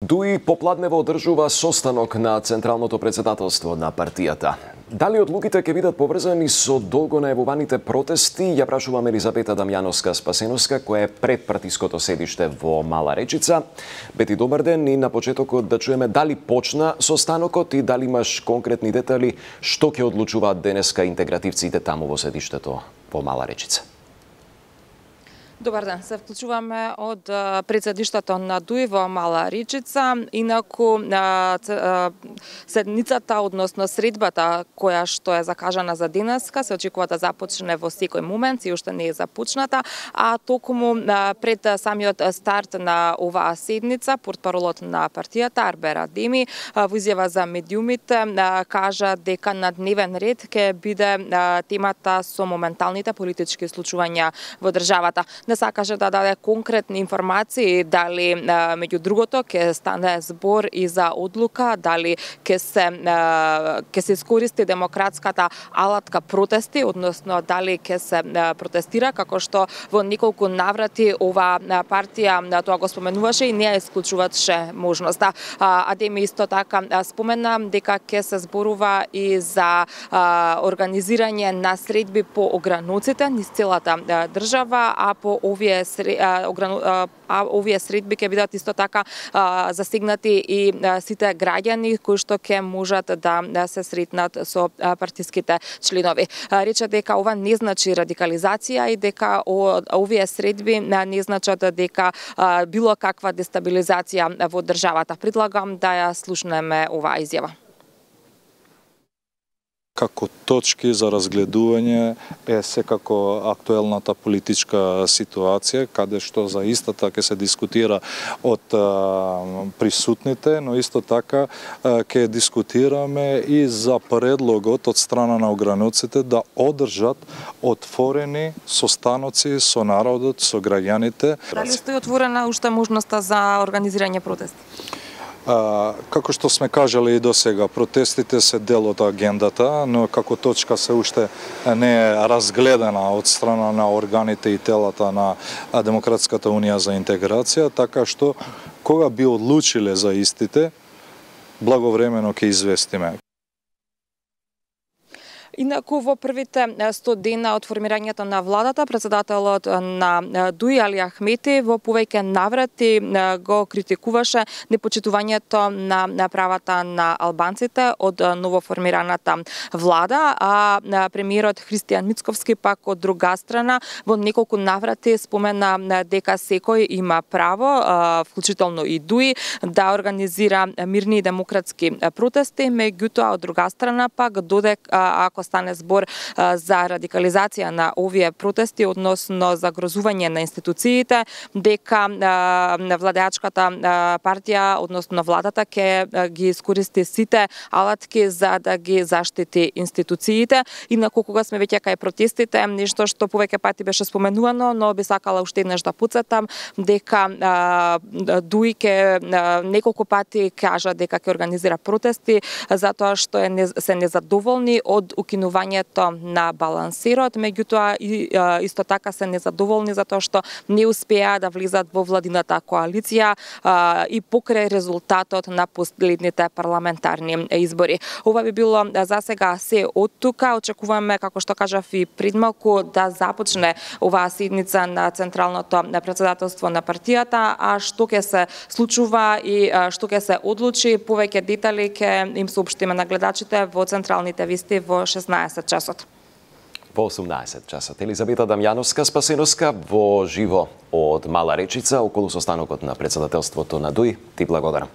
Дуи попладнево одржува состанок на Централното председателство на партијата. Дали одлуките ќе бидат поврзани со долго најавуваните протести, ја прашуваме Елизабета Дамјановска-Спасеновска, која е пред партиското седиште во Мала Речица. Бети, добар ден, и на почетокот да чуеме дали почна состанокот и дали имаш конкретни детали што ќе одлучуваат денеска интегративците таму во седиштето во Мала Речица. Добар ден, се вклучуваме од председиштето на ДУИ во Мала Речица. Инаку седницата, односно средбата која што е закажана за денеска, се очекува да започне во секој момент, и уште не е започната, а токму пред самиот старт на оваа седница, портпаролот на партијата Арбер Адеми во изјава за медиумите кажа дека на дневен ред ќе биде темата со моменталните политички случувања во државата. Не сакаше да даде конкретни информации дали меѓу другото ќе стане збор и за одлука, дали ќе се искористи демократската алатка протести, односно дали ќе се протестира, како што во неколку наврати ова партија тоа го споменуваше и не ја исклучуваше можноста. Адеми исто така спомена дека ќе се зборува и за организирање на средби по ограноците низ целата држава, а по овие средби ќе бидат исто така засегнати и сите граѓани кои што ќе можат да се сретнат со партиските членови. Рече дека ова не значи радикализација и дека овие средби не значат дека било каква дестабилизација во државата. Предлагам да ја слушнеме оваа изјава. Како точки за разгледување е секако актуелната политичка ситуација, каде што за истата ќе се дискутира од присутните, но исто така ќе дискутираме и за предлогот од страна на ограноците да одржат отворени состаноци со народот, со граѓаните. Дали стои отворена уште можноста за организирање протести? Како што сме кажали и досега, протестите се дел од агендата, но како точка се уште не е разгледана од страна на органите и телата на Демократската унија за интеграција, така што кога би одлучиле за истите, благовремено ќе известиме. Инаку во првите 100 дена од формирањето на владата, председателот на ДУИ Али Ахмети во повеќе наврати го критикуваше непочитувањето на правата на албанците од новоформираната влада, а премиерот Христијан Мицковски пак од друга страна во неколку наврати спомена дека секој има право, вклучително и ДУИ, да организира мирни и демократски протести, меѓутоа од друга страна пак додека ако стане збор за радикализација на овие протести, односно загрозување на институциите, дека владеачката партија, односно владата, ќе ги искористи сите алатки за да ги заштити институциите. Инаку кога сме веќе кај протестите, нешто што повеќе пати беше споменувано, но би сакала уште еднаш да потсетам дека ДУИ ќе неколку пати кажа дека ќе организира протести затоа што се незадоволни од укинувањето на балансирот, меѓутоа исто така се незадоволни затоа што не успеа да влизат во владината коалиција и покрај резултатот на последните парламентарни избори. Ова би било за сега се од тука. Очекуваме, како што кажав и предмалку, да започне оваа седница на Централното председателство на партијата, а што ќе се случува и што ќе се одлучи, повеќе детали ќе им соопштиме на гледачите во централните вести во 16 часот. Во 18 часот. Елизабета Дамјановска-Спасеновска во живо од Мала Речица околу состанокот на председателството на ДУИ. Ти благодарам.